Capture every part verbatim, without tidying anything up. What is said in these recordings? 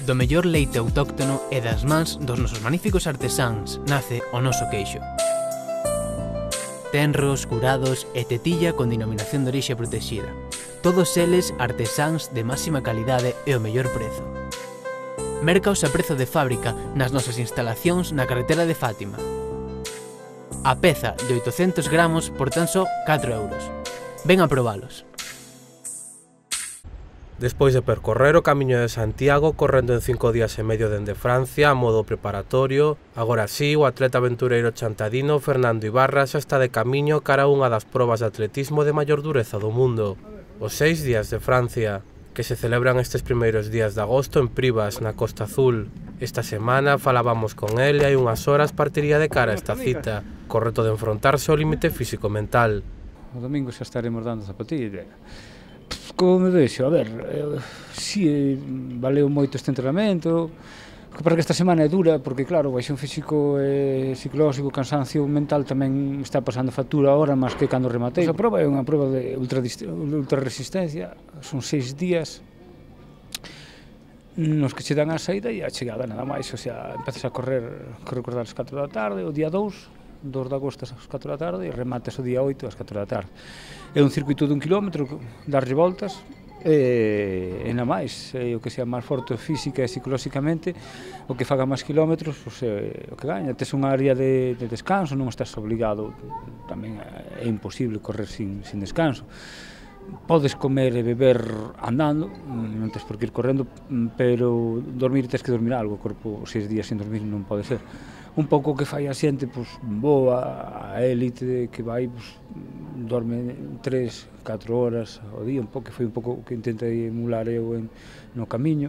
Do mellor leite autóctono e das mans dos nosos magníficos artesáns nace o noso queixo. Tenros, curados e tetilla con denominación de orixe protexida. Todos eles artesáns de máxima calidade e o mellor prezo. Mercaos a prezo de fábrica nas nosas instalacións na carretera de Fátima. A peza de oitocentos gramos por tan só catro euros. Ven a probalos. Despois de percorrer o Camiño de Santiago correndo en cinco días e medio dende Francia a modo preparatorio, agora sí o atleta aventureiro chantadino Fernando Ibarra xa está de camiño cara a unha das probas de atletismo de maior dureza do mundo, os seis días de Francia, que se celebran estes primeiros días de agosto en Privas, na Costa Azul. Esta semana falábamos con el e hai unhas horas partiría de cara a esta cita, co reto de enfrontarse ao límite físico-mental. O domingo xa estaremos dando zapatilla. Como me vexo, a ver, eh, si eh, valeu moito este entrenamento, que para que esta semana é dura, porque claro, o baixón físico e psicolóxico, o cansancio mental tamén está pasando factura agora, máis que cando rematei. A prova é unha prova de ultra, ultra resistencia, son seis días nos que che dan a saída e a chegada nada máis, o sea, empezas a correr, que recordar as catro da tarde, o día dous, dos de agosto ás catro da tarde e remates o día oito ás catro da tarde. É un circuito dun kilómetro, darlle voltas, e, e nada máis, é o que sea máis forte física e psicolóxicamente, o que faga máis kilómetros, pois, é o que gaña. Tes unha área de, de descanso, non estás obligado, tamén é imposible correr sin, sin descanso. Podes comer e beber andando, non tens por que ir correndo, pero dormir tens que dormir algo, o corpo seis días sin dormir non pode ser. Un pouco que fai a xente, pois, boa, a élite que vai, pois, dorme tres, catro horas ao día, un pouco, que foi un pouco o que intentei emular eu en, no camiño,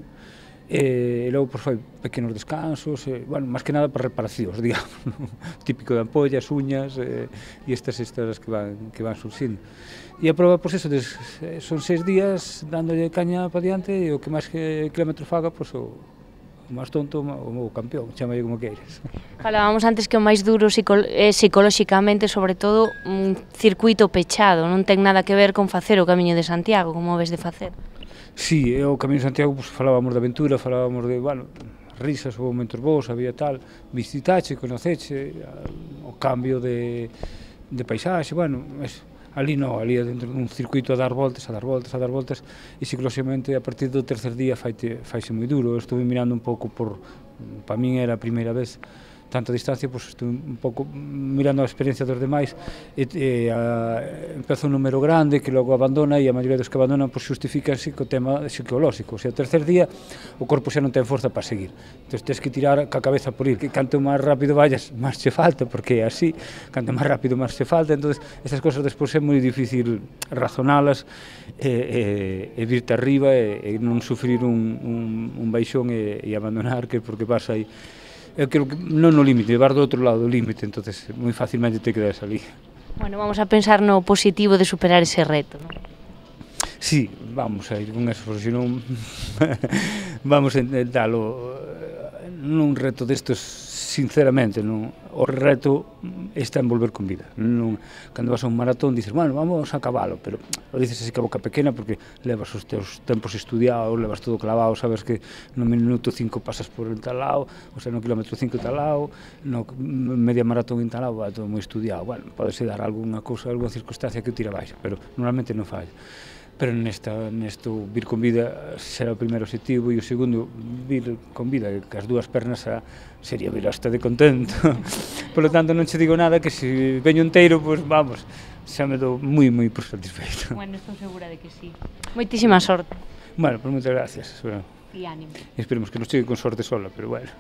e, e logo, pois, foi pequenos descansos, e, bueno, máis que nada para reparacións, digamos, típico de ampollas, uñas, e, e estas estas que van, que van surxindo. E a prova, pois, eso, des, son seis días dándolle caña para diante, e o que máis que kilómetro faga, pois, o o máis tonto, o meu campeón, chamalle como queires. Falábamos antes que o máis duro é psicolóxicamente, sobre todo, un circuito pechado, non ten nada que ver con facer o Camiño de Santiago, como ves de facer. Sí, o Camiño de Santiago, pues, falábamos de aventura, falábamos de, bueno, risas, ou momentos bons, había tal, visitache, conoceche, o cambio de, de paisaxe, bueno, eso. Ali non, ali dentro dun circuito a dar voltas, a dar voltas, a dar voltas, e psicolóxicamente a partir do tercer día faite, faise moi duro. Eu estuve mirando un pouco por, para min era a primeira vez, tanta distancia, pois estuve un pouco mirando a experiencia dos demais, e, e a, empeza un número grande que logo abandona, e a maioría dos que abandonan pois xustificanse co tema psicolóxico, o sea, o tercer día o corpo xa non ten forza para seguir, entón tens que tirar ca cabeza por ir, que canto máis rápido vayas, máis che falta, porque é así, canto máis rápido máis che falta, entón estas cosas despois é moi difícil razonalas e, e, e virte arriba e, e non sufrir un, un, un baixón e, e abandonar, que porque vas aí. Eu creo que non no límite, levar do outro lado do límite, entonces moi facilmente te quedas ali. Bueno, vamos a pensar no positivo de superar ese reto, non? Sí, vamos a ir con eso, porque senón vamos a intentalo nun reto destos, sinceramente, non, o reto está en volver con vida. Non, cando vas a un maratón dices, bueno, vamos a cabalo, pero o dices así que a boca pequena porque levas os teus tempos estudiados, levas todo clavado, sabes que no minuto cinco pasas por en tal lado, o sea, no kilómetro cinco tal lado, no media maratón en tal lado, va todo moi estudiado. Bueno, podese dar algunha cousa, algunha circunstancia que o tira baixa, pero normalmente non falla. Pero nesta, nesto vir con vida será o primeiro objetivo, e o segundo, vir con vida, que as dúas pernas a, sería vir hasta de contento. Por lo tanto, non che digo nada, que se veño enteiro, pois pues, vamos, xa me dou moi, moi por satisfeito. Bueno, estou segura de que sí. Moitísima sorte. Bueno, pues moitas gracias. E ánimo. Esperemos que non chegue con sorte sola, pero bueno.